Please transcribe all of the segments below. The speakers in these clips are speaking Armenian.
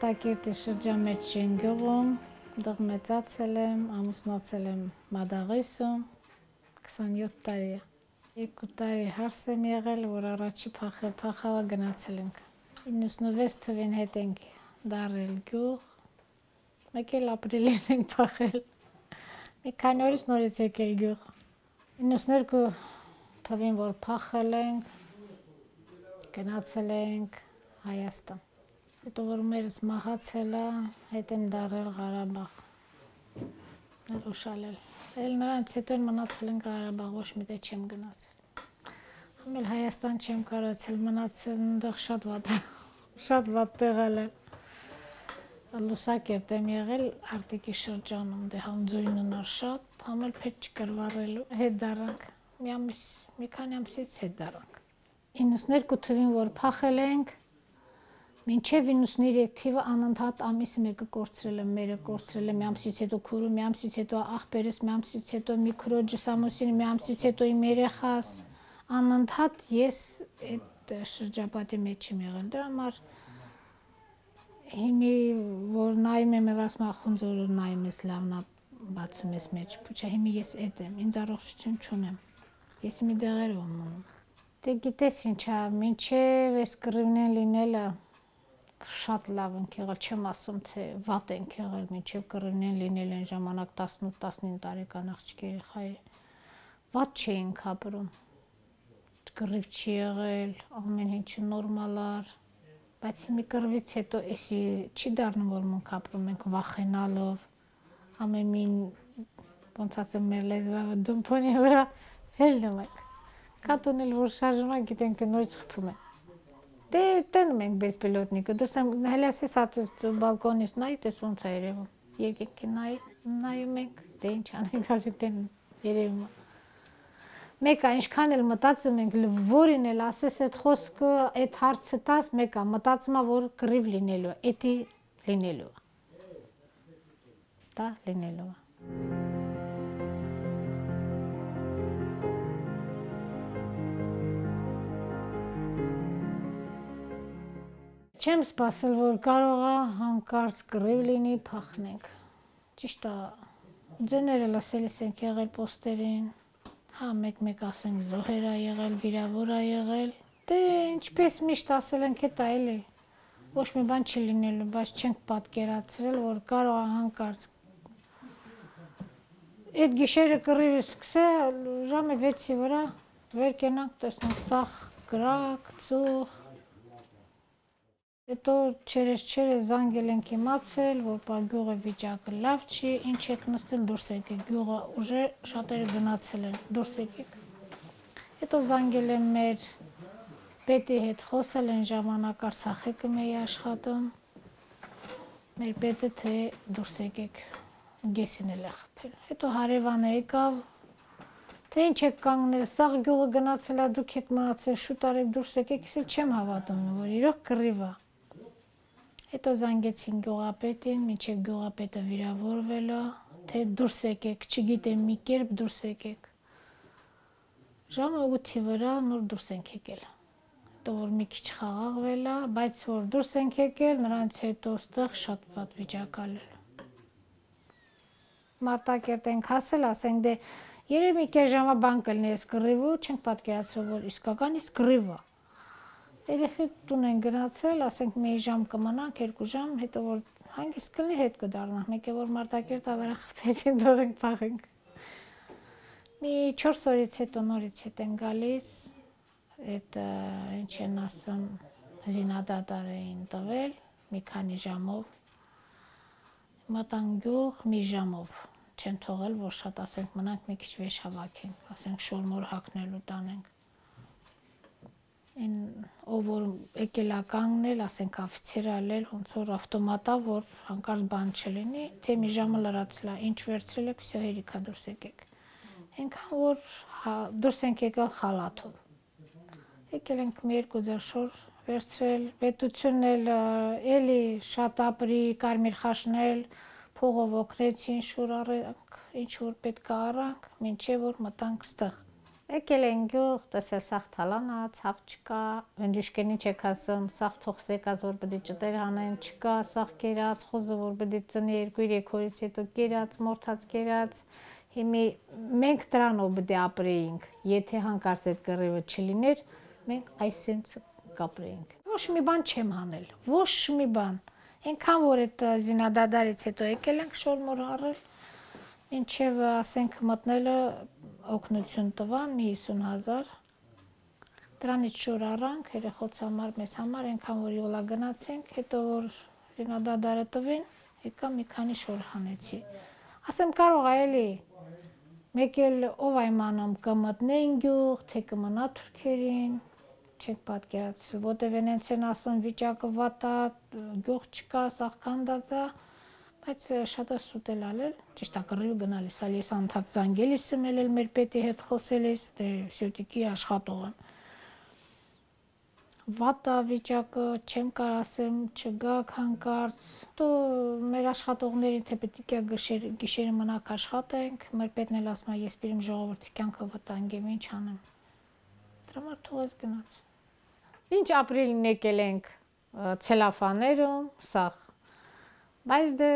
Մարտակերտի շրջան մեջ չեն գյուղում, դեղ մեծացել եմ, ամուսնացել եմ Մադաղիսում, 27 տարի է։ 2 տարի հարս եմ եղել, որ առաջի փախավա գնացել ենք։ 96 թվին հետ ենք դարել գյուղ, մեկ էլ ապրիլին ենք փախել։ Մի քանի օրից նորից եկել գյուղ։ 92 թվին որ փախել ենք, գնացել ենք Հայաստան։ Հետո որ մերս մահացել է, հետ եմ դարել Ղարաբաղ։ Ուշալել։ Էլ նրանց հետո մնացել ենք Ղարաբաղ, ոչ մի տեղ չեմ գնացել։ Համել Հայաստան չեմ կարացել, մնացել այնտեղ շատ վատ տեղալ է։ Լուսակերտ եմ եղել Արտիկի շրջանում, դե համ ձույնն էր շատ, համել պետք չկար վառելու, հետ դարանք։ Մի քանի ամսից հետ դարանք։ 92 թվին որ փախել ենք, մինչև 93 թիվը անընդհատ ամիսը մեկը կորցրել եմ, մերը կորցրել եմ, մի ամսից հետո քուրը, մի ամսից հետո աղբերս, մի ամսից հետո մի քրոջս ամուսինը, մի ամսից հետո իմ երեխաս, անընդհատ ես այդ շրջապատի մեջ եմ եղել։ Դրա համար հիմի որ նայում եմ, ասում եմ խունձորը նայում ես լավնա բացում ես մեջ, փուչա հիմի ես այդ եմ, ինձ առողջություն չունեմ, ես մի դեղերով եմ մնում։ Դե գիտես ինչա, մինչև այս կռիվն լինելը շատ լավ ենք եղել, չեմ ասում թե վատ ենք եղել, մինչև կռիվն լինել այն ժամանակ 18-19 տարեկան աղջիկ երեխայի, վատ չէինք ապրում, կռիվ չի եղել, ամեն ինչը նորմալ էր, բայց մի կռվից հետո էսի չի դառնում, որ մենք ապրում ենք վախենալով, ամեն մին, ոնց ասեմ, մեր լեզվավը դումփոնի վրա հելնում ենք, կատունել որ շարժում ենք, գիտենք թե նորից խփում են։ Դե տենում ենք բեսպիլոտնիկը, դուրս եմ հելասես հատ բալկոնից նայի, տես ոնց է երևում, երկինքի նայում ենք, դե ինչ անենք, ասի տենում երևում է։ Մեկը ինչքան էլ մտածում ենք, որին էլ ասես այդ խոսքը, այդ հարցը տաս, մեկը մտածում է, որ կռիվ լինելու է, էդի լինելու է։ Դա լինելու է։ Չեմ սպասել, որ կարող է հանկարծ կռիվ լինի, փախնենք։ Ճիշտ է, ձեները լսելիս ենք եղել պոստերին, հա մեկ ասենք զոհեր ա եղել, վիրավոր ա եղել, դե ինչպես միշտ ասել ենք էտա էլի, ոչ մի բան չի լինելու, բայց չենք պատկերացրել, որ կարող է հանկարծ այդ գիշերը կռիվը սկսել, ժամը 6-ի վրա վեր կենանք, տեսնենք սաղ կրակ, ծուխ, հետո չերես զանգել ենք իմացել, որ գյուղը վիճակը լավ չի, ինչ եք նստել դուրս եկեք, գյուղը ուժը շատերը գնացել են, դուրս եկեք։ Հետո զանգել եմ մեր պետի հետ խոսել են ժամանակ Արցախեկը մեի աշխատում, մեր պետը թե դուրս եկեք, գեսին էլ է խփել։ Հետո հարևանը եկավ, թե ինչ եք կանգնել, սաղ գյուղը գնացել է, դուք եք մնացել, շուտ արեք դուրս եկեք, ես էլ չեմ հավատում, որ իրոք կռիվ է։ Հետո զանգեցին գյուղապետին, մինչև գյուղապետը վիրավորվել է, թե դուրս եկեք, չգիտեմ մի կերպ դուրս եկեք։ Ժամը 8-ի վրա նոր դուրս ենք եկել։ Հետո որ մի քիչ խաղաղվել է, բայց որ դուրս ենք եկել, նրանց հետո ստեղ շատ վատ վիճակ ալել։ Մարտակերտ ենք հասել, ասենք դե երևի մի կես ժամա բան կլինի այս կռիվը, չենք պատկերացրել, որ իսկական իսկ կռիվ է։ Երեխեք տուն են գնացել, ասենք մի ժամ կմնանք, 2 ժամ, հետո որ հանգիստ կլինի հետ կդառնանք, մեկ է որ Մարտակերտ ավարա խփեցին, թողենք փախենք։ Մի 4 օրից հետո նորից հետ են գալիս, այդ ինչ են ասում, զինադադար էին տվել, մի քանի ժամով, մտան գյուղ մի ժամով, չեն թողել, որ շատ ասենք մնանք մի քիչ վեշ հավաքենք, ասենք շորմոր հագնելու տանենք։ Ով որ եկել է կանգնել, ասենք աֆիցեր ալել, ոնց որ ավտոմատա, որ հանկարծ բան չլինի, թե մի ժամը լրացել է, ինչ վերցրել եք, վсё հերիքա դուրս եկեք։ Այնքան որ դուրս ենք եկել խալաթով։ Եկել ենք մի 2 ձեռ շոր վերցրել, պետությունն էլ էլի շատ ապրի, կարմիր խաշնել, փողով օգնեցին, շուր առանք, ինչ որ պետք է առանք, մինչև որ մտանք ստեղ։ Եկել են գյուղ, տեսել սաղ թալանա, ցավ չկա, վենդյուշկենի չեք ասում, սաղ թող սեկած, որ պետք է ճտեր հանեն, չկա, սաղ կերած, խոզը, որ պետք է ծնի 2-3 օրից հետո կերած, մորթած կերած, հիմի մենք դրանով պետք է ապրեինք, եթե հանկարծ այդ կռիվը չլիներ, մենք այսենց կապրեինք։ Ոչ մի բան չեմ հանել, ոչ մի բան։ Այնքան որ այդ զինադադարից հետո եկել ենք շորմոր առել, ինչև ասենք մտնելը օգնություն տվան մի 50,000, դրանից շոր առանք, երեխոց համար, մեզ համար, այնքան որ յոլա գնացինք, հետո որ զինադադարը տվին, եկա մի քանի շոր հանեցի։ Ասեմ կարող է էլի, մեկ էլ ով այմանում կմտնեն գյուղ, թե կմնա թուրքերին, չեք պատկերացրել, որտև ենենց են ասում վիճակը վատ է, գյուղ չկա, սաղ քանդած է, բայց շատ է սուտ էլ ալել, ճիշտ է կռիվը գնալիս, ալ ես անդադ զանգելիս եմ էլ մեր պետի հետ խոսելիս, դե սյոտիկի աշխատող եմ։ Վատ է վիճակը, չեմ կար ասեմ, չգաք հանկարծ, դու մեր աշխատողներին թե պետք է գիշերը մնաք աշխատենք, մեր պետն էլ ասում է ես պիտի իմ ժողովրդի կյանքը վտանգեմ, ինչ անեմ։ Դրա համար թողեց գնաց։ Ինչ ապրիլին եկել ենք ցելոֆաներում, սաղ։ Բայց դե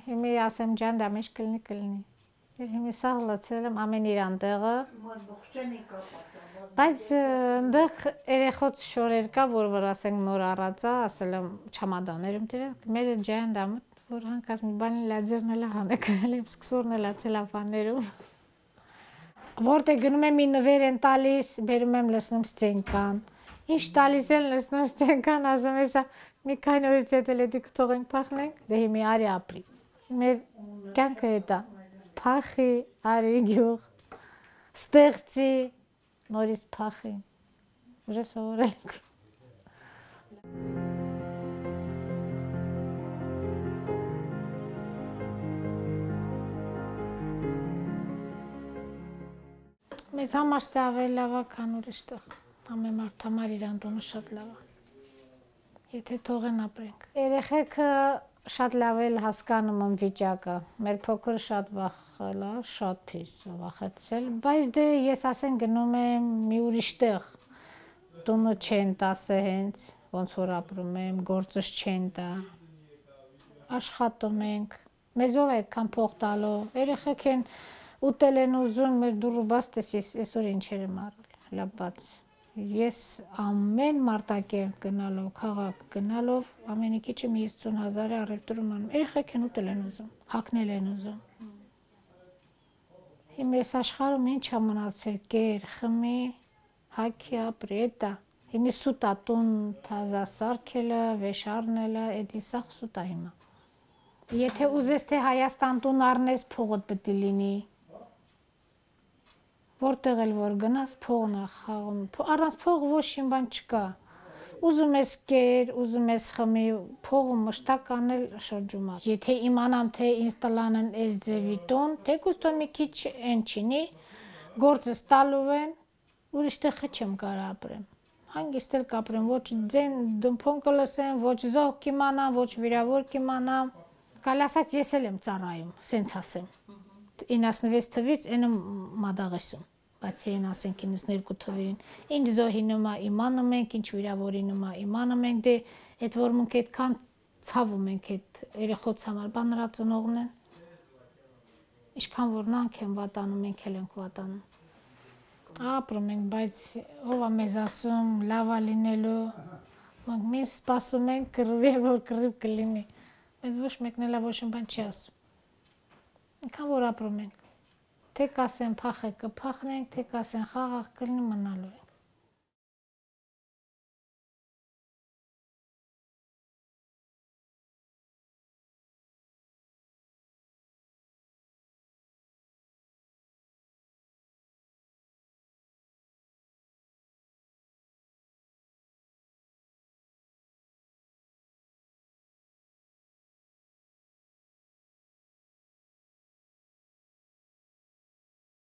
հիմի ասեմ ջան, դա մեջ կլինի։ Հիմի սաղ լցել եմ ամեն իր անտեղը։ Բայց այնտեղ երեխոց շորեր կա, որ ասենք նոր առած է, ասել եմ չամադաներում դրեք, մեր ջան դա մտ, որ հանկարծ մի բանի լաձերն էլ հանեք, էլ եմ սկսորն էլ ցելոֆաներում։ Որտեղ գնում եմ մի նվեր են տալիս, բերում եմ լսնում սցենկան։ Ինչ տալիս են լսնում սցենկան, ասում ես մի քանի օրից հետո լեդիկ թողենք փախնենք, դե հիմի արի ապրի։ Մեր կյանքը դա փախի, արի գյուղ, ստեղծի, նորից փախի։ Ուժը սովորել ենք։ Մեզ համար ստե ավելի լավ է, քան ուրիշ տեղ։ Ամեն մարդ համար իր անդոնը շատ լավ է։ Եթե թողեն ապրենք։ Երեխեքը շատ լավ էլ հասկանում են վիճակը։ Մեր փոքրը շատ վախել է, շատ փիս վախեցել, բայց դե ես ասեն գնում եմ մի ուրիշ տեղ։ Տունը չեն տասը հենց, ոնց որ ապրում եմ, գործս չեն տա։ Աշխատում ենք։ Մեզով այդքան փող տալով։ Երեխեք են ուտել են ուզում, մեր դուրը բաց տես այսօր ինչեր եմ առել։ Լավ բաց։ Ես ամեն մարտակերտ գնալով, քաղաք գնալով, ամենի քիչը մի 50,000 առևտրում անում, երեխեք են ուտել են ուզում, հագնել են ուզում։ Հիմա այս աշխարհում ինչ է մնացել, կեր, խմի, հագի ապրի, դա։ Հիմա սուտ է տուն թազա սարքելը, վեշ առնելը, էդի սաղ սուտ է հիմա։ Եթե ուզես թե Հայաստան տուն առնես, փողդ պետք է լինի։ Որտեղ էլ որ գնաս փողն է խաղում, առանց փող ոչ մի բան չկա։ Ուզում ես կեր, ուզում ես խմի, փողը մշտակ անել շրջում է։ Եթե իմանամ թե ինձ տալանն այս ձևի տուն, թեկուզ տոն մի քիչ են չինի, գործս տալու են, ուրիշ տեղ չեմ կարող ապրեմ։ Հանգիստ էլ կապրեմ, ոչ ձեն դմփոն կլսեմ, ոչ զոհ կիմանամ, ոչ վիրավոր կիմանամ։ Կալ ասած ես էլ եմ ծառայում, սենց ասեմ։ 96 թվից այն մադաղեսում, բացի այն ասենք 92 թվերին, ինչ զոհի նոմա իմանում ենք, ինչ վիրավորի նոմա իմանում ենք, դե այդ որ մենք այդքան ցավում ենք այդ երեխոց համար, բան նրա ծնողն են, ինչքան որ նրանք են վատանում, մենք էլ ենք վատանում, ապրում ենք, բայց ով է մեզ ասում, լավ է լինելու, մենք մենք սպասում ենք կռվի, որ կռիվ կլինի, մեզ ոչ մեկն էլ ոչ մի բան չի ասում։ Ինքան որ ապրում ենք, թե կասեն փախեք կփախնենք, թե կասեն խաղաղ կլինի մնալու ենք։